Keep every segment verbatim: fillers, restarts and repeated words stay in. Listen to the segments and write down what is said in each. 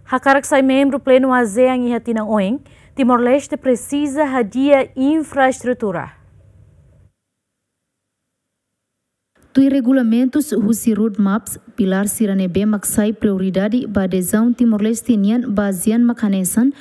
Hakarak sai membru plenu ASEAN iha tinan oin, Timor-Leste presiza hadi'a infraestrutura. Tuir regulamentus husi roadmaps, pilár sira ne'ebé mak sai prioridade ba adezaun Timor-Leste nian ba ASEAN mak hanesan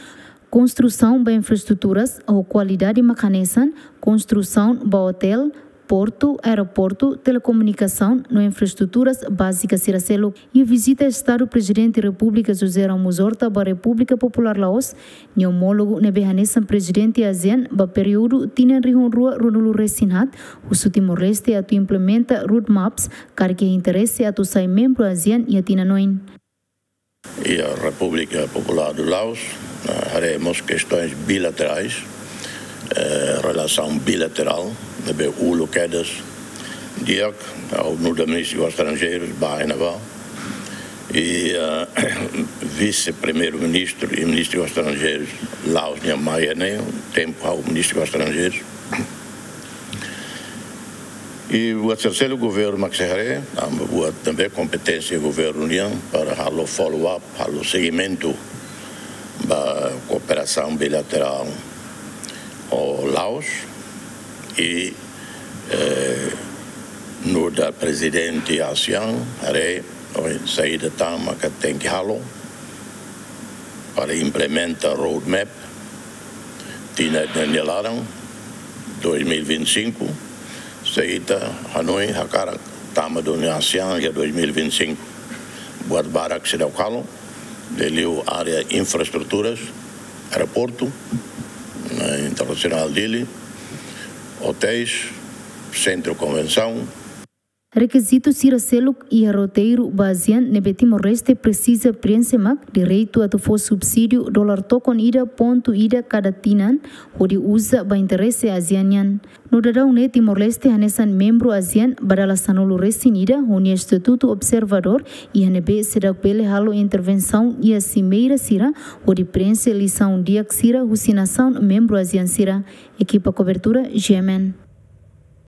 konstrusaun ba infraestruturas ho kualidade mak hanesan konstrusaun ba otél, portu, aeroportu, telekomunikasaun no infraestruturas bázikas sira seluk. Iha vizita Estadu Prezidente Repúblika José Ramos Horta ba Repúblika Populár Laos, nia omólogu ne'ebé hanesan Prezidente ASEAN ba períodu tinan rihun rua ruanulu resin haat, husu Timor-Leste atu implementa roadmaps, karik iha interese atu sai membru ASEAN iha tinan oin. Iha Repúblika Populár do Laos, eh, haree mós kestaun bilaterál, eh, relasaun bilaterál, ne'ebé uluk kedas di'ak, ha'u nu'udar Ministru Estranjeirus, ba iha ne'ebá. I, eh, Vise-Primeiru-Ministru i Ministru Estranjeirus Laos nian mai iha ne'e, tempu ha'u Ministru Estranjeirus. I buat sira seluk governu mak sei haree, tanba buat ne'ebé kompeténsia governu nian para halo follow up, halo segimentu ba kooperasaun bilaterál ho Laos. I, eh, nu'udar Prezidente ASEAN, haree, ohin saida tan maka tenke halo para implementa roadmap, tinan ida nia laran, dois mil e vinte e cinco, se ita hanoin hakarak tama duni ASEAN iha dois mil e vinte e cinco. Buat barak seidauk halo, liuliu área infraestruturas, aeroportu, eh, internasionál Dili, otéis, sentru konvensaun. Rekizitu sira seluk iha roteiru ba ASEAN ne'ebé Timor-Leste presiza preenxe mak direitu atu fó subsídiu dolar tokon ida pontu ida kada tinan, hodi uza ba interese ASEAN nian. No daudaun ne'e Timor-Leste hanesan membru ASEAN ba dala sanulu resin ida ho nia estatutu observadór, iha ne'ebé seidauk bele halo intervensaun iha simeira sira, hodi preenxe lisaun di'ak sira husi nasaun membru ASEAN sira. Ekipa kobertura, G M N.